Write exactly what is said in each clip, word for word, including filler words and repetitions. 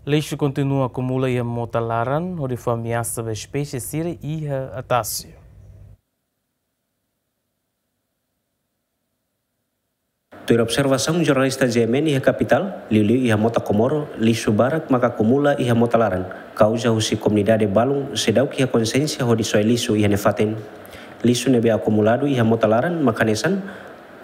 Lixu kontinua akumula iha mota laran, hodi fó ameasa ba espésie sira iha tasi. Tuir observasaun jornalista G M N iha kapitál, liuliu iha Mota Komoro, lixu barak maka akumula iha mota laran, kauza husi komunidade balun seidauk iha konsiénsia hodi soe lixu iha ne'e fatin. Lixu ne'ebé akumuladu iha mota laran maka hanesan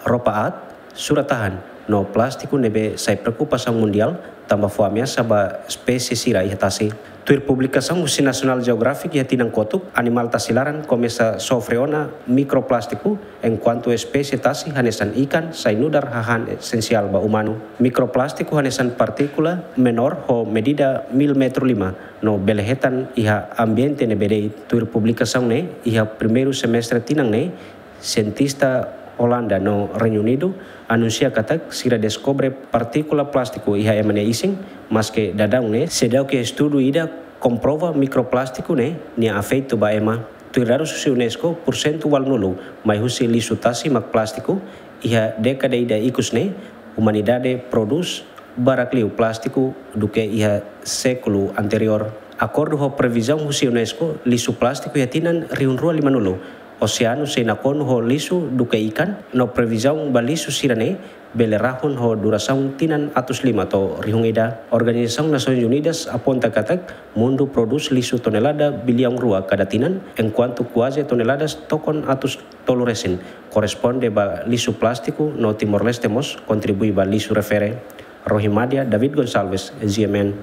roupa aat, surat-tahan, no plástiku ne'ebé sai preokupasaun mundiál, tanba fó ameasa ba espésie sira iha tasi. Tuir publikasaun husi National Geographic iha tinan kotuk, animál tasi laran komesa sofre ona mikroplástiku, enkuantu espésie tasi hanesan ikan sai nu'udar hahán esensiál ba umanu. Mikroplástiku hanesan partíkula menór ho medida mil metru lima, no bele hetan iha ambiente ne'ebé de'it. Tuir publikasaun ne'e, iha primeiru semestre tinan ne'e, sientista Olanda no Reinu Unidu anunsia katak sira deskobre partíkula plástiku iha ema nia isin, maske daudaun ne'e seidauk iha estudu ida komprova mikroplástiku ne'e nia efeitu ba ema. Tuir dadus husi UNESCO, pursentu ualunulu mai husi lixu tasi mak plástiku. Iha dékada ida ikus ne'e, umanidade prodús barak liu plástiku duké iha sékulu anteriór. Akordu ho previzaun husi UNESCO, lixu plástiku iha tinan rihun rua limanulu. Oseanu sei nakonu ho lixu duké ikan, no previzaun ba lixu sira-ne'e bele rahun ho durasaun tinan atus lima to'o rihun ida. Organizasaun Nasoins Unidas aponta katak mundu prodús lixu tonelada biliaun rua kada tinan, enkuantu kuaze toneladas tokon atus tolu resin korresponde ba lixu plástiku, no Timor-Leste mós kontribui ba lixu refere. Rohimadia David Gonçalves, G M N.